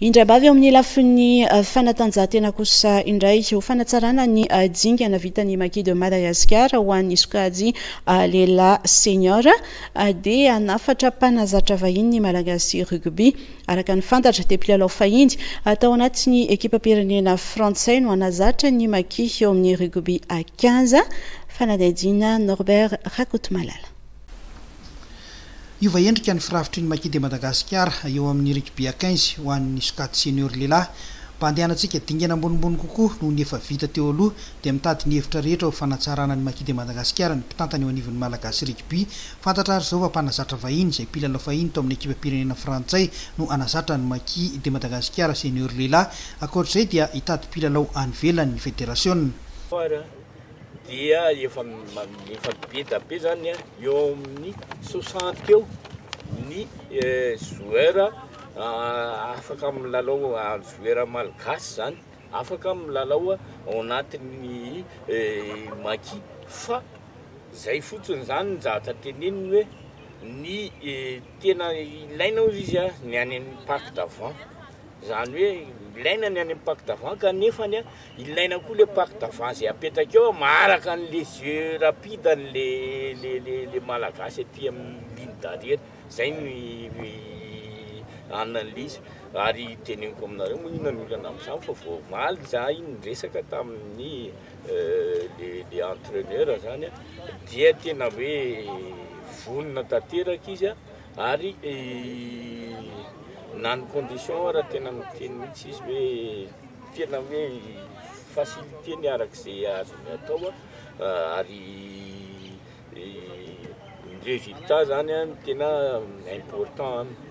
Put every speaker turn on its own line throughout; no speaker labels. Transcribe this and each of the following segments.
Indraimbavy eo amin'ny lafiny fanatanjahantena kosa indray, ho fanatsarana ny dingana vitan'ny Maki de Madagascar ho an'ny sokajy lehilahy senior dia hanafatra mpanazatra vahiny ny Malagasy Rugby. Araka ny fantatra dia mpilalao fahiny tao anatin'ny ekipam-pirenena frantsay no hanazatra ny Maki eo amin'ny rugby à quinze. Fanadihadiana Norbert Rakotomalala.
Hiova endrika ny firafitry ny Maki de Madagascar eo amin'ny rugby à quinze ho an'ny sokajy senior lehilahy. Mba handehanantsika dingana ambonimbony kokoa noho ny efa vita teo aloha dia mitady ny hevitra rehetra ho fanatsarana ny Maki de Madagascar ny mpitantana eo anivon'ny Malagasy Rugby. Fantatra ary izao fa mpanazatra vahiny izay mpilalao fahiny tao amin'ny ekipam-pirenena frantsay no hanazatra ny Maki de Madagascar senior lehilahy. Ankoatra izay dia hitady mpilalao any ivelany ny federasiona.
dia efa efa be da be zany eo amin'ny soixante eo ny joueur afaka milalao joueur malgache zany afaka milalao ao anatin'ny maki fa zay fotsiny zany ny zavatra teneniny hoe ny tena ilaina ozy izy a ny any amin'ny pack d'avant Izany hoe ilaina ny any amin'ny pack d'avant kanefany ilaina koa le pack d'avant izay apetaka eo maharaka an'le jeu rapide an'le le le le malagasy aty amin'ny ligne d'arrière. Izay no anan'le izy. Ary teneniko aminareo moa inona ny olana amin'izany fa vao omaly izahay niresaka tamin'ny le le entraineur izany dia tena hoe vonona tanteraka izy. Ary na ny condition ara tena miteny mihitsy izy hoe tena hoe facilité ny araka izay azony atao ary ny résultat zany no tena important aminy.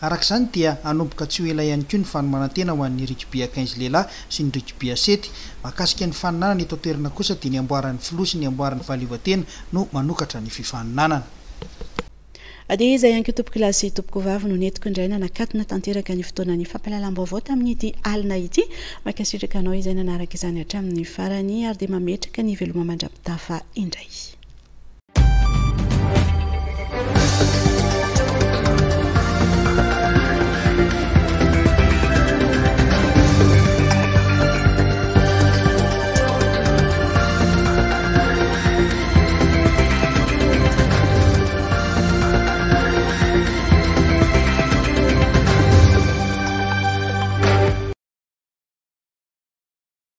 Araka izany dia hanomboka tsy ho ela ihany koa ny fanomanan-tena ho an'ny rugby à quinze lehilahy sy ny rugby à sept. Mahakasika ny faninanana eto an-toerana kosa dia ny amboaran'ny filoha sy ny amboaran'ny fahaleovantena no manokatra ny fifaninanana.
Dia izay ihany koa tompokolahy sy tompokovavy no nentiko indray nanakatona tanteraka ny fotoanan'ny fampahalalam-baovao tamin'ity alina ity. Mankasitraka anao izay nanaraka izany hatramin'ny farany ary dia mametraka ny veloma mandra-pitafa indray.